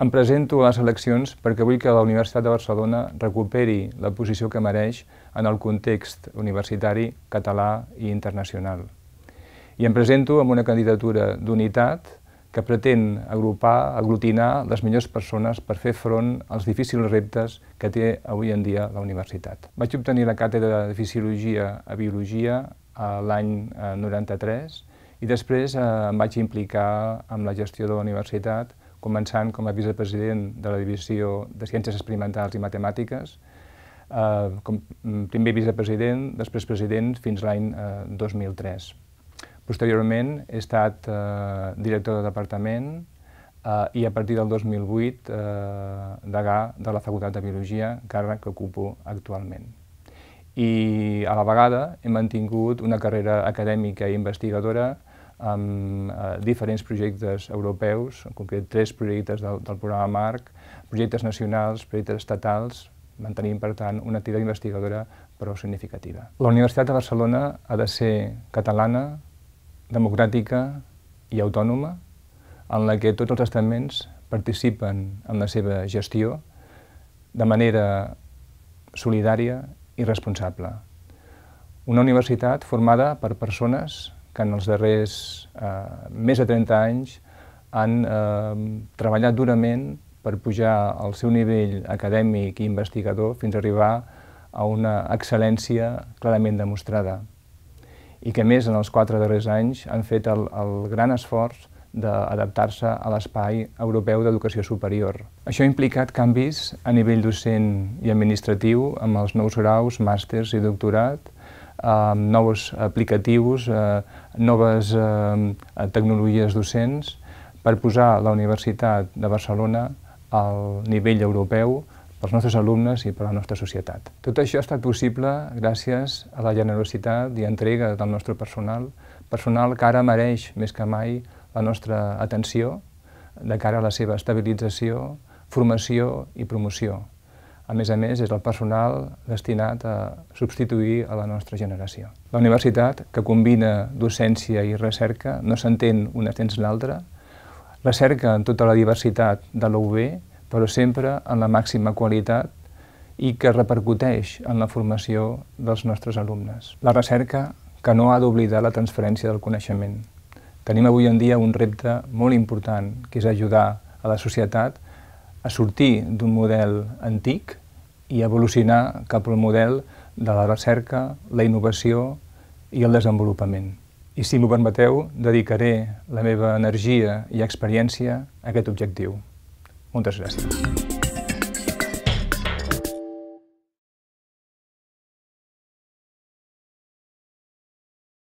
Em presento a les eleccions perquè vull que la Universitat de Barcelona recuperi la posició que mereix en el context universitari català i internacional. I em presento amb una candidatura d'unitat que pretén aglutinar les millors persones per fer front als difícils reptes que té avui en dia la universitat. Vaig obtenir la càtedra de Fisiologia a Biologia l'any 93 i després em vaig implicar amb la gestió de la universitat, començant com a vicepresident de la Divisió de Ciències Experimentals i Matemàtiques, com primer vicepresident, després president, fins l'any 2003. Posteriorment he estat director de departament i a partir del 2008 degà de la Facultat de Biologia, càrrec que ocupo actualment. I a la vegada he mantingut una carrera acadèmica i investigadora amb diferents projectes europeus, en concret 3 projectes del programa MARC, projectes nacionals, projectes estatals, mantenint, per tant, una activitat investigadora prou significativa. La Universitat de Barcelona ha de ser catalana, democràtica i autònoma, en la que tots els estaments participen en la seva gestió de manera solidària i responsable. Una universitat formada per persones que en els darrers més de 30 anys han treballat durament per pujar el seu nivell acadèmic i investigador fins a arribar a una excel·lència clarament demostrada i que, a més, en els 4 darrers anys han fet el gran esforç d'adaptar-se a l'espai europeu d'educació superior. Això ha implicat canvis a nivell docent i administratiu amb els nous graus, màsters i doctorat, nous aplicatius, noves tecnologies docents per posar la Universitat de Barcelona al nivell europeu pels nostres alumnes i per a la nostra societat. Tot això ha estat possible gràcies a la generositat i entrega del nostre personal, personal que ara mereix més que mai la nostra atenció de cara a la seva estabilització, formació i promoció. A més, és el personal destinat a substituir a la nostra generació. La universitat, que combina docència i recerca, no s'entén una sense l'altra, recerca en tota la diversitat de la UB, però sempre en la màxima qualitat i que repercuteix en la formació dels nostres alumnes. La recerca que no ha d'oblidar la transferència del coneixement. Tenim avui en dia un repte molt important, que és ajudar a la societat a sortir d'un model antic i evolucionar cap al model de la recerca, la innovació i el desenvolupament. I si m'ho permeteu, dedicaré la meva energia i experiència a aquest objectiu. Moltes gràcies.